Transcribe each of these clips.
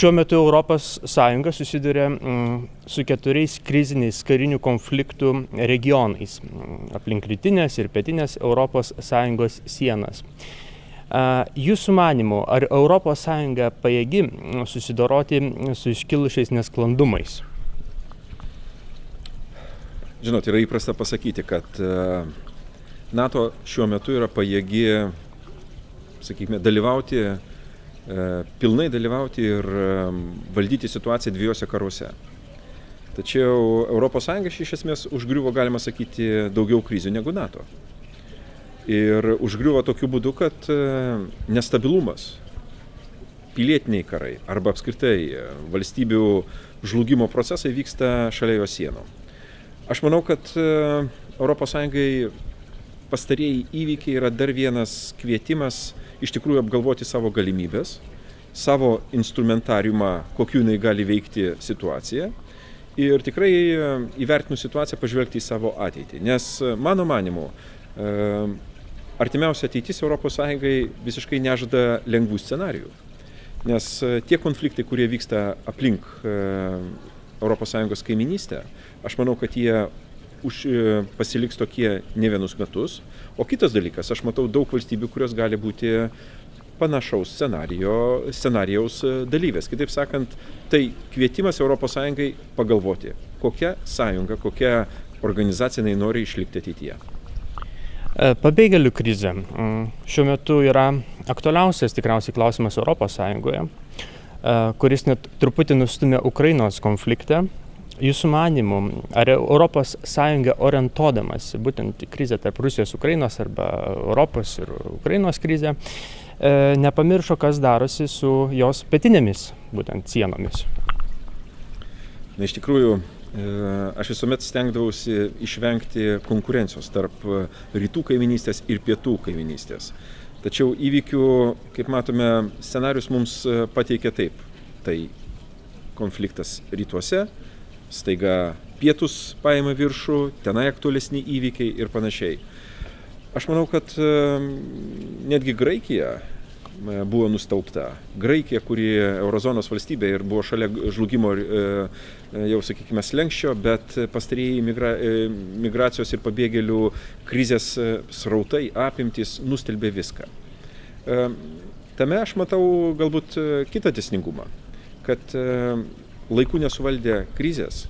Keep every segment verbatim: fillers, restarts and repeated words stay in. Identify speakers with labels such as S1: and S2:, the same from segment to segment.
S1: Šiuo metu Europos Sąjunga susiduria su keturiais kriziniais karinių konfliktų regionais aplink rytinės ir pietinės Europos Sąjungos sienas. Jūsų manymu, ar Europos Sąjunga pajėgi susidoroti su iškilusiais nesklandumais?
S2: Žinot, yra įprasta pasakyti, kad NATO šiuo metu yra pajėgi, sakykime, dalyvauti pilnai dalyvauti ir valdyti situaciją dviejose karuose. Tačiau Europos Sąjunga iš esmės užgriuvo, galima sakyti, daugiau krizių negu NATO. Ir užgriuvo tokiu būdu, kad nestabilumas, pilietiniai karai arba apskritai valstybių žlugimo procesai vyksta šalia jo sienų. Aš manau, kad Europos Sąjungai pastarieji įvykiai yra dar vienas kvietimas iš tikrųjų apgalvoti savo galimybės, savo instrumentariumą, kokiu jinai gali veikti situaciją ir tikrai įvertinus situaciją pažvelgti į savo ateitį. Nes mano manimu, artimiausia ateitis Europos Sąjungai visiškai nežada lengvų scenarijų. Nes tie konfliktai, kurie vyksta aplink Europos Sąjungos kaiminystę, aš manau, kad jie už, pasiliks tokie ne vienus metus. O kitas dalykas, aš matau daug valstybių, kurios gali būti panašaus scenarijaus dalyvės. Kitaip sakant, tai kvietimas Europos Sąjungai pagalvoti, kokia sąjunga, kokia organizacija jinai nori išlikti ateityje.
S1: Pabėgėlių krizė šiuo metu yra aktualiausias tikriausiai klausimas Europos Sąjungoje, kuris net truputį nustumė Ukrainos konfliktą. Jūsų manymu, ar Europos Sąjunga orientuodamas būtent krizę tarp Rusijos, Ukrainos arba Europos ir Ukrainos krizę, nepamiršo, kas darosi su jos pietinėmis būtent sienomis?
S2: Na, iš tikrųjų, aš visuomet stengdavausi išvengti konkurencijos tarp rytų kaiminystės ir pietų kaiminystės. Tačiau įvykių, kaip matome, scenarius mums pateikia taip. Tai konfliktas rytuose, staiga pietus paima viršų, tenai aktualesni įvykiai ir panašiai. Aš manau, kad netgi Graikija buvo nustaupta. Graikija, kuri eurozonos valstybė ir buvo šalia žlugimo jau, sakykime, slenksčio, bet pastarieji migra, migracijos ir pabėgėlių krizės srautai, apimtys nustelbė viską. Tame aš matau galbūt kitą dėsningumą, kad laiku nesuvaldę krizės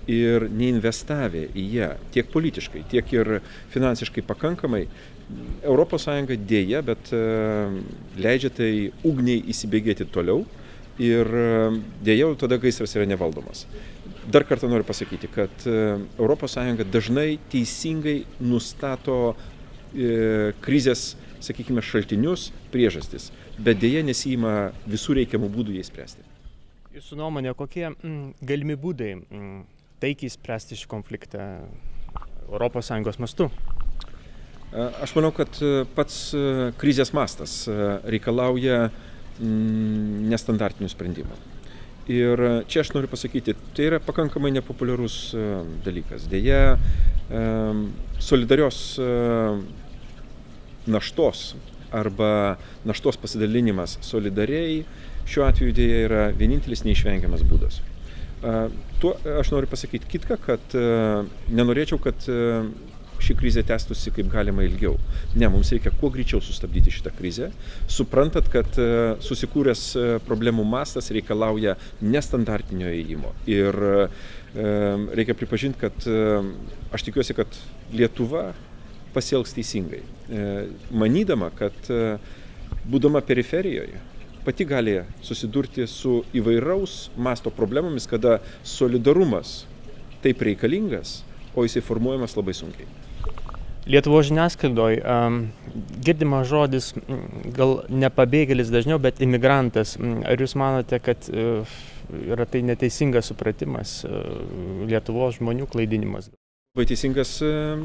S2: ir neinvestavę į ją tiek politiškai, tiek ir finansiškai pakankamai, Europos Sąjunga dėja, bet leidžia tai ugniai įsibėgėti toliau ir dėja tada gaisras yra nevaldomas. Dar kartą noriu pasakyti, kad Europos Sąjunga dažnai teisingai nustato krizės, sakykime, šaltinius, priežastis, bet dėja nesiima visų reikiamų būdų jai spręsti.
S1: Jūsų nuomonė, kokie mm, galimi būdai mm, taikiai spręsti šį konfliktą Europos Sąjungos mastu?
S2: Aš manau, kad pats krizės mastas reikalauja mm, nestandartinių sprendimų. Ir čia aš noriu pasakyti, tai yra pakankamai nepopuliarus dalykas. Deja, solidarios naštos arba naštos pasidalinimas solidariai šiuo atveju dėja yra vienintelis neišvengiamas būdas. Tuo aš noriu pasakyti kitką, kad nenorėčiau, kad ši krizė tęstųsi kaip galima ilgiau. Ne, mums reikia kuo greičiau sustabdyti šitą krizę. Suprantat, kad susikūręs problemų mastas reikalauja nestandartinio ėjimo. Ir reikia pripažinti, kad aš tikiuosi, kad Lietuva pasielgs teisingai. Manydama, kad būdama periferijoje, pati gali susidurti su įvairaus masto problemomis, kada solidarumas taip reikalingas, o jisai formuojamas labai sunkiai.
S1: Lietuvos žiniasklaidoj um, girdimas žodis, gal ne pabėgėlis dažniau, bet imigrantas. Ar jūs manote, kad uh, yra tai neteisingas supratimas, uh, Lietuvos žmonių klaidinimas?
S2: Labai teisingas uh,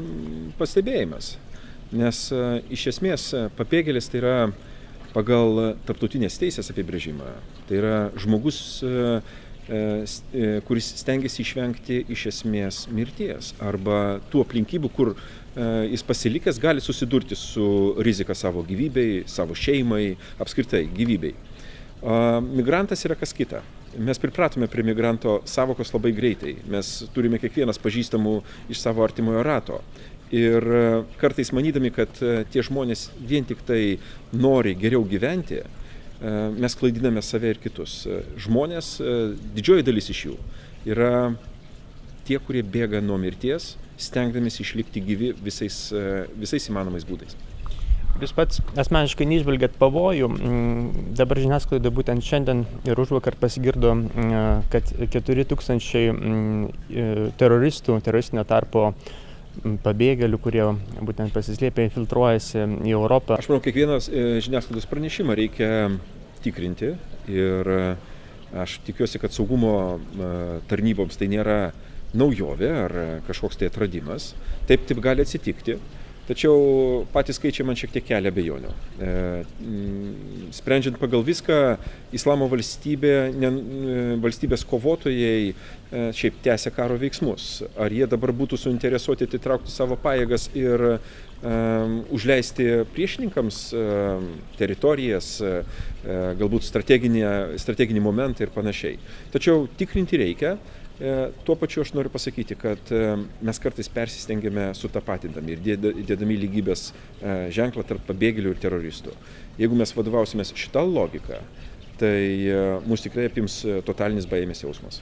S2: pastebėjimas, nes uh, iš esmės pabėgėlis tai yra pagal tarptautinės teisės apibrėžimą. Tai yra žmogus, kuris stengiasi išvengti iš esmės mirties arba tų aplinkybių, kur jis pasilikęs gali susidurti su rizika savo gyvybei, savo šeimai, apskritai gyvybei. Migrantas yra kas kita. Mes pripratome prie migranto savokos labai greitai. Mes turime kiekvienas pažįstamų iš savo artimojo rato. Ir kartais manydami, kad tie žmonės vien tik tai nori geriau gyventi, mes klaidiname save ir kitus. Žmonės, didžioji dalis iš jų, yra tie, kurie bėga nuo mirties, stengdamės išlikti gyvi visais, visais įmanomais būdais.
S1: Jūs pats asmeniškai neižvelgiat pavojų. Dabar žiniasklaidoje būtent šiandien ir užvakar pasigirdo, kad keturi tūkstančiai teroristų, teroristinio tarpo pabėgėlių, kurie būtent pasislėpė, infiltruojasi į Europą.
S2: Aš manau, kiekvienas žiniasklaidos pranešimą reikia tikrinti ir aš tikiuosi, kad saugumo tarnyboms tai nėra naujovė ar kažkoks tai atradimas. Taip, taip gali atsitikti. Tačiau patys skaičiai man šiek tiek kelia abejonių. E, sprendžiant pagal viską, Islamo valstybė, ne, valstybės kovotojai e, šiaip tęsia karo veiksmus. Ar jie dabar būtų suinteresuoti atitraukti savo pajėgas ir e, užleisti priešininkams e, teritorijas, e, galbūt strateginį, strateginį momentą ir panašiai. Tačiau tikrinti reikia. Tuo pačiu aš noriu pasakyti, kad mes kartais persistengiame sutapatindami ir dėdami lygybės ženklą tarp pabėgėlių ir teroristų. Jeigu mes vadovausimės šitą logiką, tai mus tikrai apims totalinis baimės jausmas.